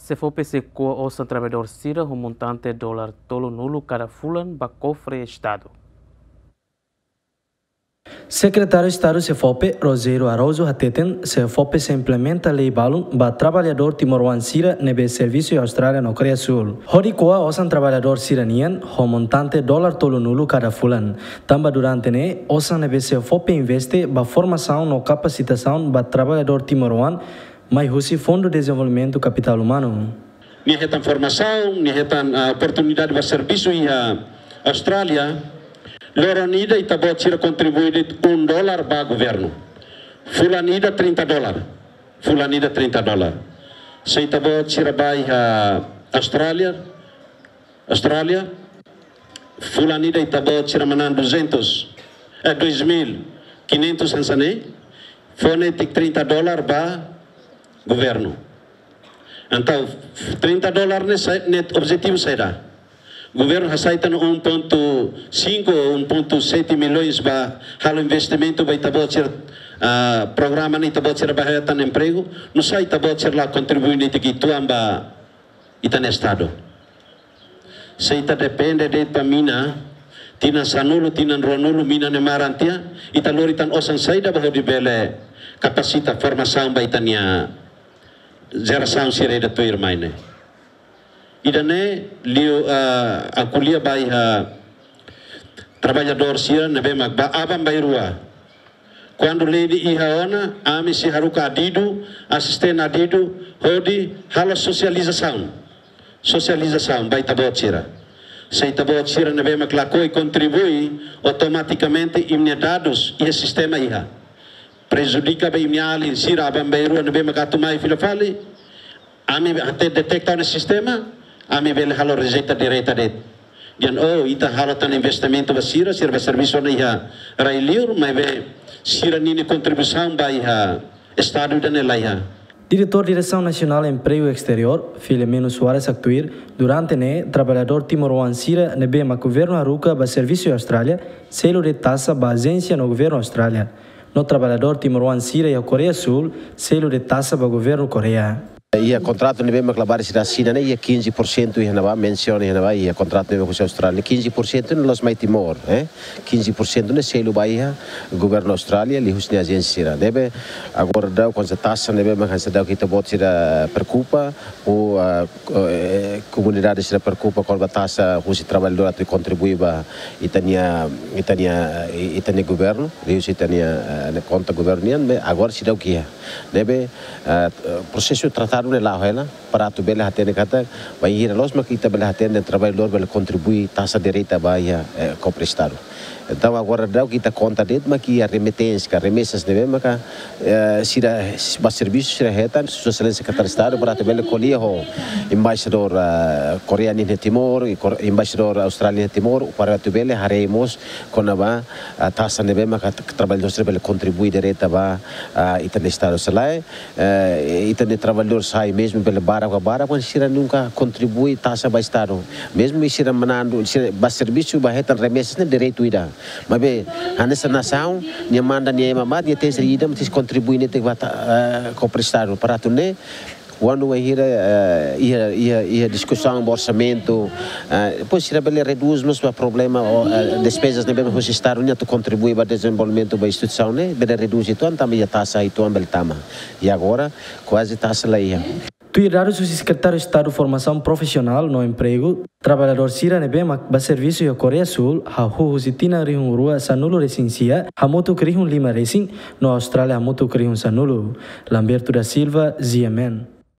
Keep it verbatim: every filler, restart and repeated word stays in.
SEFOPE sei ko'a osan traballadór sira ho montante dolar tolunulu kada fulan ba kofre Estadu. Sekretáriu Estadu SEFOPE, Rogério Araújo hateten, SEFOPE sei implementa lei balun ba traballadór timoroan sira ne'ebé servisu iha Austrália no Koreia Súl. Hodi ko'a osan traballadór sira-nian ho montante dolar tolunulu kada fulan. Tanba durante ne'e, osan ne'ebé SEFOPE investe ba formasaun no kapasitasaun ba traballadór timoroan mai husi Fundu Dezenvolvimentu Kapitál Umanu. Nia hetan formasaun, nia hetan, ah, oportunidade ba servisu iha Austrália. Loron ida ita-boot sira kontribui de'it um dólar ba governu. Fulan ida trinta dólar. Fulan ida trinta dólar. Se ita-boot sira ba iha Austrália, Austrália, fulan ida ita-boot sira manán duzentos, eh, dois mil quinhentos hanesan ne'e, fó netik trinta dólar ba governu. Entaun, trinta dólar ne'e sai, ne'e objetivu saida? Governu hasai tan um ponto cinco ou um ponto sete milhões ba halo investimentu ba ita-boot sira, ah, programa ne'e ita-boot sira ba hetan empregu, nusá ita-boot sira la kontribui netik uitoan ba ita-nia Estadu? Se ita depende de'it ba mina, tinan sanulu, tinan ruanulu, mina ne'e maran tiha, ita lori tan osan saida ba hodi bele kapasita formasaun ba ita-nia jerasaun sira ida tuirmai ne'e. Ida-ne'e liu, ah, aku lia ba iha traballadór sira ne'ebé mak ba aban-bainrua. Kuandu lei ne'e iha ona, ami sei haruka adidu, asiste adidu, hodi halo sosializasaun. Sosializasaun ba ita-boot sira. Se ita-boot sira ne'ebé mak lakohi kontribui, automatikamente imi-nia dadus iha sistema iha. Prejudika ba imi-nia alin sira aban-bainrua ne'ebé mak atu mai fila fali, ami atu detekta ona sistema, ami bele halo rejeita direta de'it. Dehan, oh, ita halo tan investimentu ba sira, sira ba servisu ona iha rai-liur, maibé sira-nia kontribuisaun ba iha Estadu ida-ne'e la iha. Diretór Diresaun Nasionál Empregu Esteriór, Filemeno Soares haktuir, durante ne'e, traballadór timoroan sira ne'ebé mak governu haruka ba servisu iha Austrália, selu de'it taxa ba ajénsia no governu Austrália. No traballadór timoroan sira iha Koreia Súl, selu de'it taxa ba governu Koreia. Iha kontratu ne'ebé mak labarik sira asina ne'e, iha quinze por cento iha ne'ebá, mensiona iha ne'ebá, iha kontratu ne'ebé husi Austrália, quinze por cento ne'e la'ós mai Timor, eh? Quinze por cento ne'e selu ba iha governu Austrália, liuhusi nia ajénsia sira. Ne'ebé agora daudaun taxa ne'ebé mak hanesan daudaun ita-boot sira preokupa, ou, ah, ko-, eh, komunidade sira preokupa kona-ba taxa husi traballadór atu kontribui ba ita-nia, ita-nia, ita-nia governu, liuhusi ita-nia, eh, konta governu nian, maibé agora seidauk iha. Ne'ebé, eh, prosesu tratadu ne'e la'o hela, para atu bele hatene katak, bainhira loos mak ita bele hatene traballadór bele kontribui taxa direta ba iha, eh, kofre Estadu. Entaun, agora daudaun ita konta de'it mak iha remiténsia, ka remesas ne'ebé maka, eh, sira ba servisu sira hetan, Sua Exelénsia Sekretáriu Estadu, para atu bele ko'alia ho embaixadór, eh, Koreia nian iha Timor, i Kor-, embaixadór Austrália nian iha Timor, para atu bele haree mós kona-ba, ah, taxa ne'ebé maka t-, traballadór sira bele kontribui direta ba, ah, ita-nia Estadu. Se lae, eh, ita-nia traballadór sai mezmu bele barak ka barak, maibé sira nunka kontribui taxa ba Estadu. Mezmu sira manán, sira ba servisu, ba hetan remesas ne'e direitu ida. Maibé, hanesan nasaun, nia manda nia ema mai, nia tenke ser ida, mak tenke kontribui netik ba ta-, eh, kofre Estadu. Para atu nune'e, kuandu bainhira, eh, iha, iha, iha diskusaun ba orsamentu, eh, depois sira bele redús mós ba problema, ou, eh, despezas ne'ebé husi Estadu nian atu kontribui ba dezenvolvimentu ba instituisaun ne'e, bele redús uitoan, tanba iha taxa uitoan bele tama. I agora, kuaze taxa la iha. Tuir dadus husi Sekretáriu Estadu Formasaun Profisionál no Empregu, traballadór sira ne'ebé mak ba servisu iha Koreia Súl, hahú husi tinan rihun rua sanulu-resin-sia, hamutuk rihun lima-resin, no Austrália hamutuk rihun sanulu. Lamberto da Silva, G M N.